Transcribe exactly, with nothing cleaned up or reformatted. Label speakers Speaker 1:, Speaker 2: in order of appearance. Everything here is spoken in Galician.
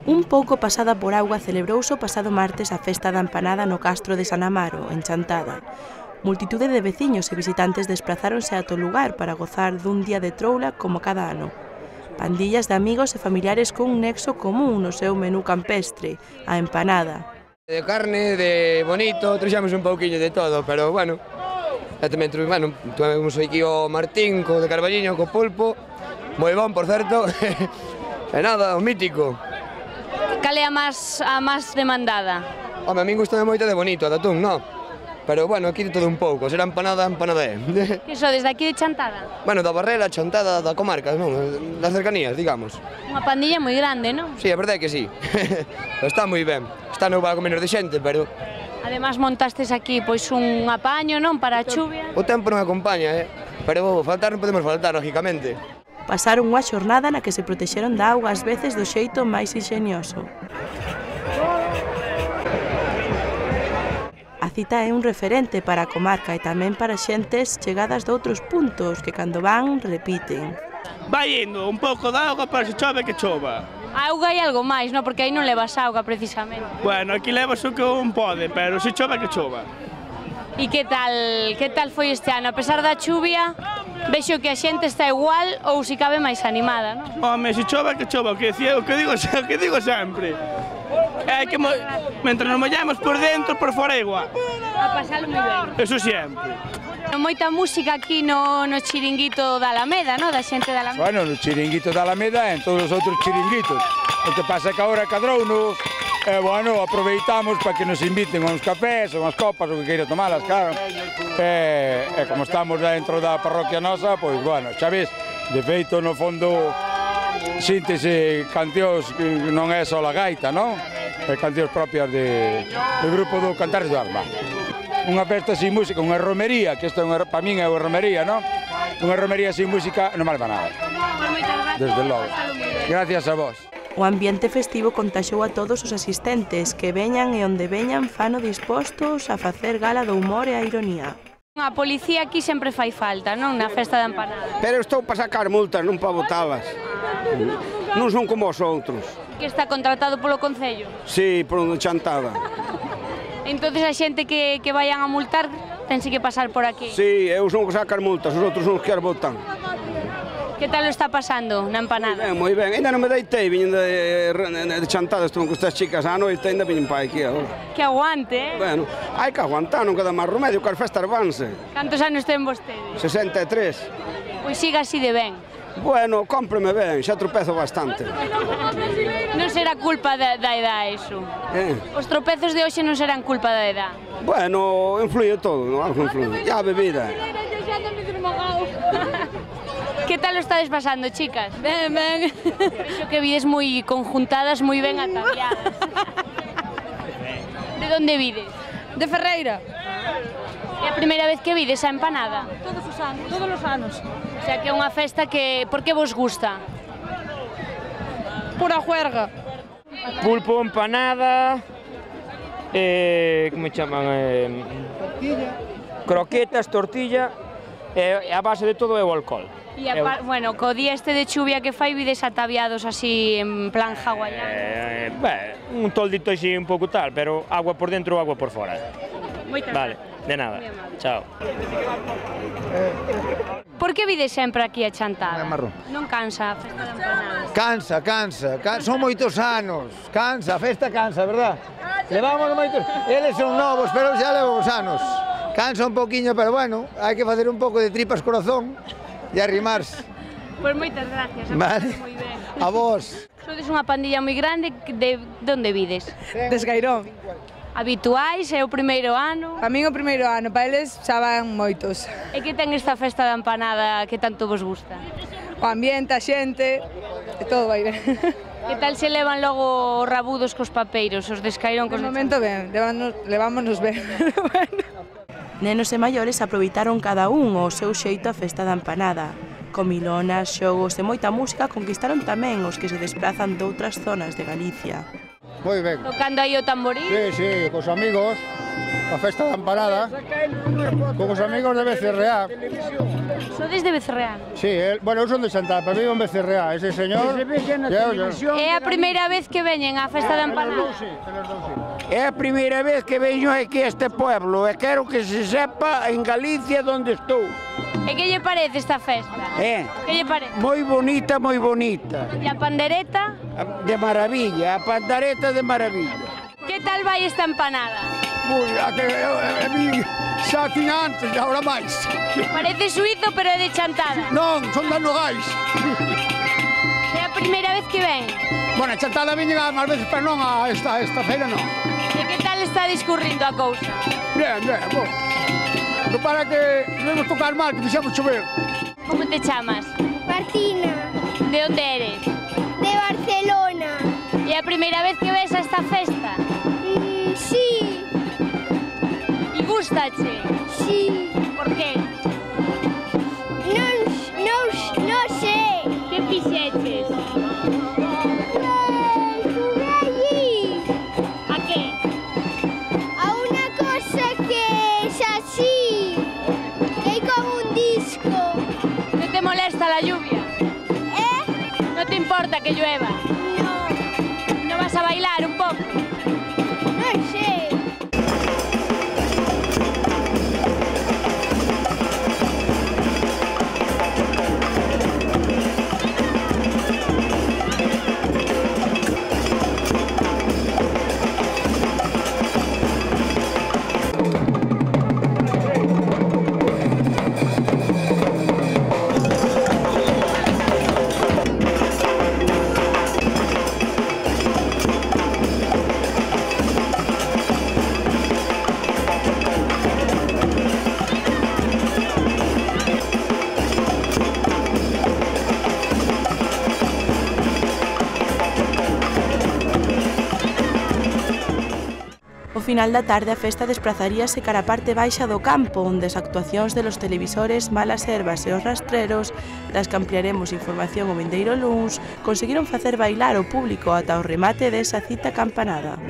Speaker 1: Un pouco pasada por auga celebrouse o pasado martes a festa da empanada no castro de San Amaro, en Chantada. Multitude de veciños e visitantes desplazáronse ata o lugar para gozar dun día de troula como cada ano. Pandillas de amigos e familiares con un nexo común no seu menú campestre, a empanada.
Speaker 2: De carne, de bonito, trouxemos un pouquiño de todo, pero bueno, e tamén bueno, tuvemos aquí o Martín, co de Carballiño, co pulpo, moi bon, por certo, e nada, o mítico.
Speaker 3: Cal é a máis a máis demandada?
Speaker 2: Home, a min gustame moito de bonito, a de atún, non? Pero, bueno, aquí de todo un pouco, será empanada, empanada é.
Speaker 3: Que so, desde aquí de Chantada?
Speaker 2: Bueno, da Barrera, Chantada, da comarca, non? Das cercanías, digamos.
Speaker 3: Unha pandilla moi grande, non?
Speaker 2: Sí, a verdade é que sí. Está moi ben. Está non para menos de xente, pero...
Speaker 3: Ademais montastes aquí pois un apaño, non? Para a chuvia.
Speaker 2: O tempo non acompaña, eh? Pero faltar non podemos faltar, lógicamente.
Speaker 1: Pasaron unha xornada na que se protexeron da auga ás veces do xeito máis inxenioso. A cita é un referente para a comarca e tamén para xentes chegadas de outros puntos que cando van repiten.
Speaker 4: Vai indo un pouco de auga para se chove que chova.
Speaker 3: A auga e algo máis, non? Porque aí non levas auga precisamente.
Speaker 4: Bueno, aquí levas o que un pode, pero se chove que chova.
Speaker 3: E que tal, que tal foi este ano? A pesar da chuvia, vexo que a xente está igual ou se cabe máis animada, non?
Speaker 4: Home, se chove que chova, o que decía, o que digo, o que digo sempre. É que mo... mentre nos mollamos por dentro, por fora é igual.
Speaker 3: A pasalo moi ben.
Speaker 4: Eso sempre.
Speaker 3: Moita música aquí no, no chiringuito da Alameda, no? Da xente da Alameda.
Speaker 5: Bueno, no chiringuito da Alameda e en todos os outros chiringuitos. O que pasa é que agora cadrouno, e, bueno, aproveitamos para que nos inviten a uns cafés, a unhas copas, o que queira tomalas, claro. E, e como estamos dentro da parroquia nosa, pois, bueno, xa ves, de feito, no fondo, síntese cancións que non é só a gaita, non? É cancións propias de, do grupo do Cantares do Arma. Unha festa sin música, unha romería, que isto para min é unha romería, non? Unha romería sin música non vale para nada. Desde logo. Gracias a vos.
Speaker 1: O ambiente festivo contaxou a todos os asistentes que veñan e onde veñan fano dispostos a facer gala do humor e a ironía.
Speaker 3: A policía aquí sempre fai falta, non? Na festa da empanada.
Speaker 6: Pero estou para sacar multas, non para botalas. Non son como os outros.
Speaker 3: Que está contratado polo Concello?
Speaker 6: Sí, por onde Chantada.
Speaker 3: Entonces a xente que, que vayan a multar tense que pasar por aquí?
Speaker 6: Sí, eu son que sacar multas, os outros son os que as botan.
Speaker 3: Que tal o está pasando na empanada?
Speaker 6: Moi ben, moi ben. Ainda non me deitei, viñen de, de, de Chantada, estou con estas chicas á noite, ainda viñen para aquí agora.
Speaker 3: Que aguante, eh?
Speaker 6: Bueno, hai que aguantar, non queda máis remedio, que as festas vanse.
Speaker 3: Cantos anos ten vostede?
Speaker 6: sesenta e tres.
Speaker 3: Pois siga así de ben.
Speaker 6: Bueno, cómpreme ben, xa tropezo bastante.
Speaker 3: Non será culpa da, da edad, iso?
Speaker 6: Eh?
Speaker 3: Os tropezos de hoxe non serán culpa da edad?
Speaker 6: Bueno, influye todo, non? Algo influye. E a bebida.
Speaker 3: Que tal o estades pasando, chicas?
Speaker 7: Ben, ben.
Speaker 3: Vexo que vides moi conjuntadas, moi ben ataviadas. De onde vides?
Speaker 7: De Ferreira.
Speaker 3: É a primeira vez que vides a empanada?
Speaker 7: Todos os anos, todos os anos.
Speaker 3: O sea, que é unha festa que... Por que vos gusta?
Speaker 7: Pura juerga.
Speaker 8: Pulpo, empanada... Eh, como chaman? Eh, tortilla. Croquetas, tortilla... E a base de todo é o alcohol.
Speaker 3: E, a, bueno, co día este de chuvia que fai, vides ataviados así en plan hawaiano?
Speaker 8: Eh, ben, un toldito así un pouco tal, pero agua por dentro ou agua por fora.
Speaker 3: Moitas
Speaker 8: vale, de nada. Chao.
Speaker 3: Por que vides sempre aquí a Chantada?
Speaker 9: Marrón.
Speaker 3: Non cansa a festa da empanada?
Speaker 9: Cansa, cansa, cansa, son moitos anos, cansa, a festa cansa, verdad? Levamos moitos, eles son novos, pero xa levamos anos. Cansa un poquinho, pero bueno, hai que facer un pouco de tripas corazón e arrimarse.
Speaker 3: Pois moitas gracias, a
Speaker 9: vale.
Speaker 3: moi ben.
Speaker 9: A vos.
Speaker 3: Sodes unha pandilla moi grande, de, de onde vides?
Speaker 7: De Esgairón.
Speaker 3: Habituais, é o primeiro ano?
Speaker 7: A min o primeiro ano, para eles xa van moitos.
Speaker 3: E que ten esta festa da empanada que tanto vos gusta?
Speaker 7: O ambiente, a xente, e todo vai ben.
Speaker 3: Que tal se levan logo os rabudos cos papeiros, os de Esgairón?
Speaker 7: De momento ben, levámonos ben.
Speaker 1: Nenos e maiores aproveitaron cada un o seu xeito a festa da empanada. Comilonas, xogos e moita música conquistaron tamén os que se desplazan doutras zonas de Galicia.
Speaker 9: Moi ben.
Speaker 3: Tocando aí o tamborín?
Speaker 9: Sí, sí, cos amigos.
Speaker 10: a festa da empanada, con os amigos de Becerreá.
Speaker 3: Sodes de Becerreá?
Speaker 10: Sí, el, bueno, eu son de Chantada, pero vivo en Becerreá, ese señor...
Speaker 3: É a primeira vez que veñen á festa da empanada?
Speaker 11: É a primeira vez que veño aquí a este pueblo e quero que se sepa en Galicia onde estou.
Speaker 3: E que lle parece esta festa?
Speaker 11: É.
Speaker 3: Que lle parece?
Speaker 11: Moi bonita, moi bonita.
Speaker 3: E a pandereta?
Speaker 11: De maravilla, a pandereta de maravilla.
Speaker 3: Que tal vai esta empanada?
Speaker 10: Moi, a que a mí xa tiña antes e agora máis.
Speaker 3: Parece suizo, pero é de Chantada.
Speaker 10: Non, son de Nogais.
Speaker 3: É a primeira vez que ven?
Speaker 10: Bueno, a Chantada viñen máis veces, pero non a esta, esta feira non.
Speaker 3: E que tal está discurrindo a cousa?
Speaker 10: Bien, bien, bon. Non para que debemos tocar mal, que fixamos chover.
Speaker 3: Como te chamas?
Speaker 12: Martina.
Speaker 3: De onde eres?
Speaker 12: De Barcelona.
Speaker 3: E a primeira vez que ves esta festa?
Speaker 12: Mm, sí.
Speaker 3: E gustache?
Speaker 12: Sí.
Speaker 3: Por que?
Speaker 12: Non, non, non sei.
Speaker 3: Que fixeches?
Speaker 12: Juguei allí.
Speaker 3: A que?
Speaker 12: A unha cosa que es así. Que hai como un disco.
Speaker 3: Non te molesta la lluvia?
Speaker 12: Eh?
Speaker 3: Non te importa que llueva?
Speaker 12: No.
Speaker 3: Non vas a bailar un pouco?
Speaker 12: Non sei.
Speaker 1: Ao final da tarde a festa desprazaríase cara a parte baixa do campo, onde as actuacións de los televisores Malas Herbas e os Rastreros, das que ampliaremos información o vindeiro luns, conseguiron facer bailar o público ata o remate desa cita campanada.